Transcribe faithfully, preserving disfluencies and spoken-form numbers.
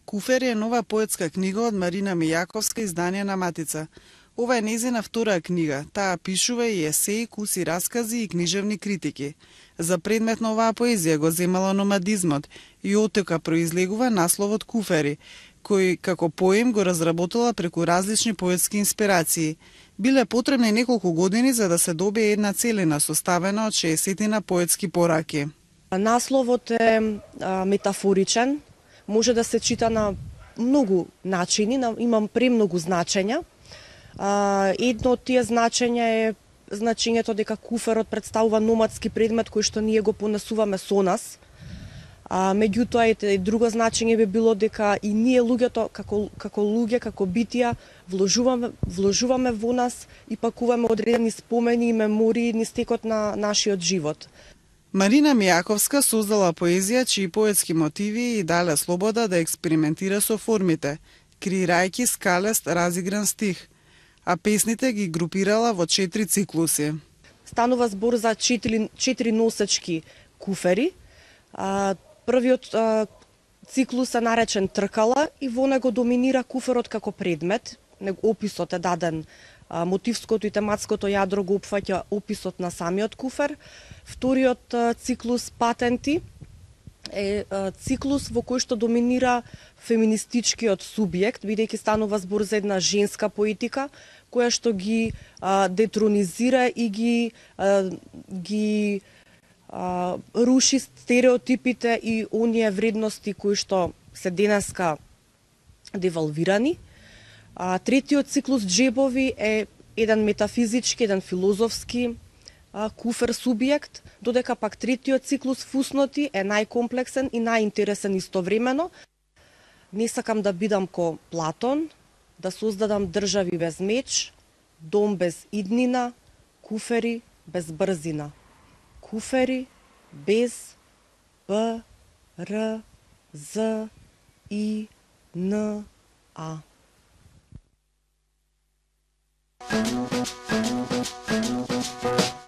Куфери е нова поетска книга од Марина Мијаковска, издание на Матица. Ова е нејзина втора книга. Таа пишува и есеи, куси раскази и книжевни критики. За предмет на оваа поезија го земала номадизмот и оттека произлегува насловот Куфери, кој како поем го разработила преку различни поетски инспирации. Биле потребни неколку години за да се добие една целина составена од шеесет поетски пораки. Насловот е а, метафоричен, може да се чита на многу начини, на, имам премногу значења. А, едно од тие значења е значењето дека куферот представува номадски предмет кој што ние го понесуваме со нас. А, меѓутоа и друго значење би било дека и ние луѓето како како луѓе, како битија вложуваме вложуваме во нас и пакуваме одредени спомени и мемории низ текот на нашиот живот. Марина Мијаковска создала поезија чии поетски мотиви и дале слобода да експериментира со формите, креирајќи скалест разигран стих, а песните ги групирала во четири циклуси. Станува збор за четири, четири носечки куфери. А, првиот а, циклус е наречен Тркала и во него доминира куферот како предмет. Описот е даден, а, мотивското и тематското јадро го опфаќа описот на самиот куфер. Вториот а, циклус Патенти е а, циклус во кој што доминира феминистичкиот субјект, бидејќи станува збор за една женска поетика која што ги а, детронизира и ги а, ги а, руши стереотипите и оние вредности кои што се денеска девалвирани. А, третиот циклус Джебови е еден метафизички, еден филозофски а, куфер субјект, додека пак третиот циклус Фусноти е најкомплексен и најинтересен истовремено. Не сакам да бидам ко Платон, да создадам држави без меч, дом без иднина, куфери без брзина. Куфери без Б, Р, З, И, Н, А. Thank you.